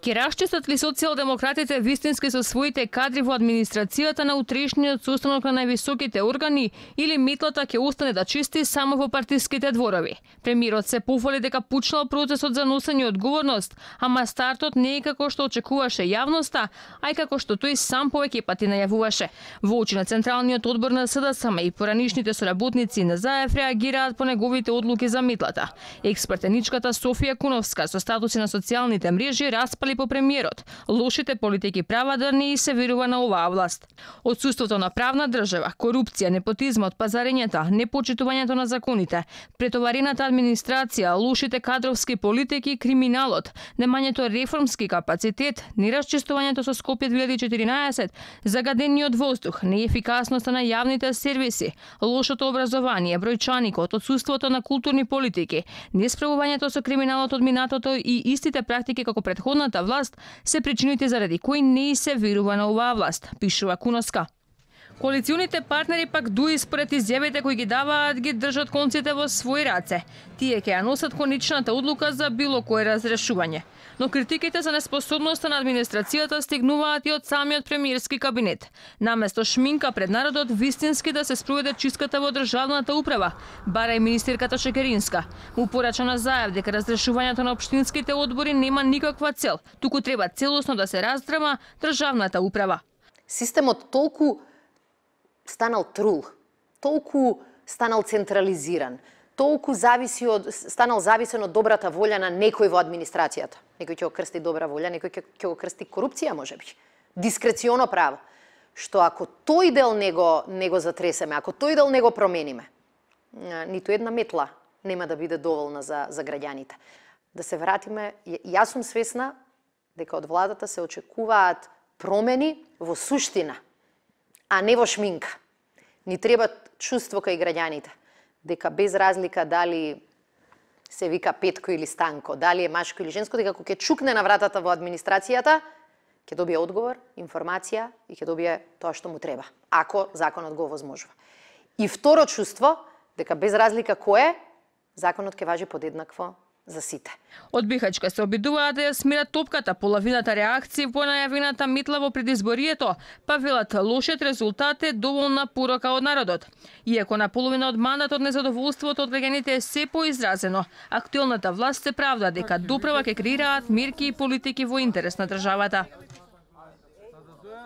Ке расчистат ли социјалдемократите вистински со своите кадри во администрацијата на утрешниот состанок на највисоките органи или метлата ќе остане да чисти само во партиските дворови? Премиерот се пофали дека пучнал процесот за носење одговорност, ама стартот не е како што очекуваше јавноста, а и како што тој сам повеќе пати најавуваше. Во очи на Централниот одбор на СДСМ и поранишните соработници на ЗАЕФ реагираат по неговите одлуки за метлата. Експертеничката Софија Куновска со статуси на социјалните мрежи распали по премиерот. Лошите политики права да не се верува на оваа власт. Отсуството на правна држава, корупција, непотизмот, пазарењата, непочитувањето на законите, претоварената администрација, лошите кадровски политики, криминалот, немањето реформски капацитет, нерасчистувањето со Скопје 2014, загадениот воздух, неефикасноста на јавните сервиси, лошото образование, бројчаникот, отсуството на културни политики, несправувањето со криминалот од минатото и истите практики како претходната власт се причините заради кои не се верува на оваа власт, пишува Куновска. Коалиционите партнери пак дуи според изјавите кои ги даваат ги држат конците во своји раце. Тие ќе ја носат конечната одлука за било кое разрешување. Но критиките за неспособноста на администрацијата стигнуваат и од самиот премиерски кабинет. Наместо шминка пред народот вистински да се спроведе чистката во државната управа, бара и министерката Шекеринска. Му порача на ЗАЕФ дека разрешувањето на општинските одбори нема никаква цел, туку треба целосно да се раздрма државната управа. Системот толку станал трул, толку станал централизиран, толку станал зависен од добрата волја на некој во администрацијата. Некој ќе го крсти добра волја, некој ќе го крсти корупција, можеби. Дискреционо право. Што ако тој дел не го затресеме, ако тој дел не го промениме, ниту една метла нема да биде доволна за граѓаните. Да се вратиме, јас сум свесна дека од владата се очекуваат промени во суштина, а не во шминка. Ни треба чувство кај граѓаните, дека без разлика дали се вика Петко или Станко, дали е машко или женско, дека кога ќе чукне на вратата во администрацијата, ќе добие одговор, информација и ќе добие тоа што му треба, ако законот го овозможува. И второ чувство, дека без разлика кој е, законот ќе важи подеднакво за сите. Од Бихачка се обидуваат да ја смират топката, половината реакции по најавената метла во предизборието, па велат лошиот резултат е доволна порока од народот. Иако на половина од мандатот незадоволството од граѓаните е се поизразено, актуелната власт се правда дека доправа ќе креираат мерки и политики во интерес на државата.